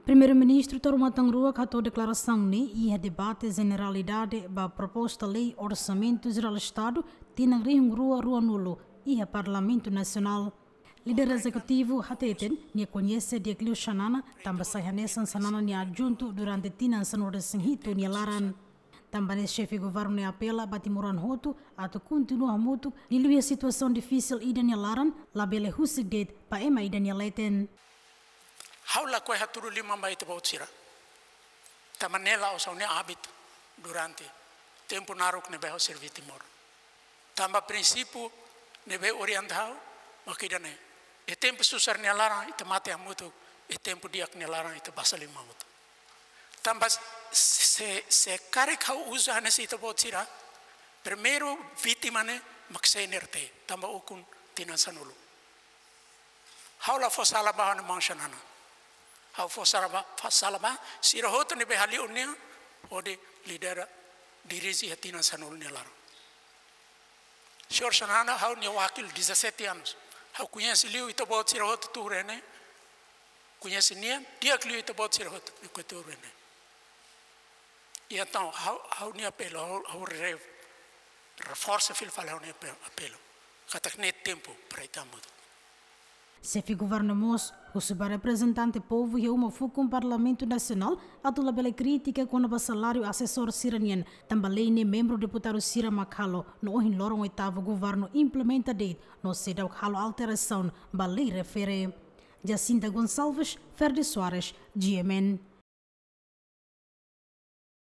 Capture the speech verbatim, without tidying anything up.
Primeiru-Ministru Taur Matan Ruak hato'o deklarasaun ne'e iha debate jeneralidade ba proposta lei Orsamentu Jerál Estadu tinan rihun rua ruanulu iha Parlamentu Nasionál. Líder Ezekutivu hateten nia koñese di'ak liu Xanana, tanba sai hanesan Xanana nia adjuntu durante tinan sanulu-resin-hitu nia laran. Tanba ne'e Xefe Governu ne'e apela ba timoroan hotu atu kontinua hamutuk liuliu iha situasaun difisil ida nia laran, labele husik de'it ba ema ida nia leten. Ha'u lakohi hatudu liman ba ita-boot sira. Tanba ne'e la'ós ha'u-nia ábitu durante tempu naruk ne'ebé ha'u serví Timor. Tanba prinsípiu ne'ebé orienta ha'u mak ida-ne'e. Iha tempu susar nia laran ita mate hamutuk, iha tempu di'ak nia laran ita basa liman hotu. Tanba se, se karik ha'u uza hanesan ita-boot sira, primeiru vítima ne'e mak C N R T, tanba ukun tinan sanulu. Ha'u la fó sala ba ha'u-nia maun Xanana. Ha'u fó sala ba, fó sala ba sira hotu ne'ebé hali'u nia hodi lidera, dirije iha tinan sanulu nia laran. Señór Xanana, ha'u-nia wakil dezassete anos. Ha'u koñese liu ita-boot sira hotu tuur iha ne'e. Koñese nia di'ak liu ita-boot sira hotu ne'ebé tuur iha ne'e. I entaun, ha'u, ha'u-nia apelu, ha'u, ha'u re-, reforsa fila fali ha'u-nia ape-, apelu. Katak ne'e tempu para ita hamutuk. Xefe Governu mós husu ba reprezentante povu iha uma fukun Parlamentu Nasionál atu labele kritika kona-ba saláriu asesór sira-nian, tanba lei ne'e membru deputadu sira mak halo, no ohin loron oitavu governu implementa de'it, no seidauk halo alterasaun ba lei refere. Jacinta Gonçalves, Ferdi Soares, G M N.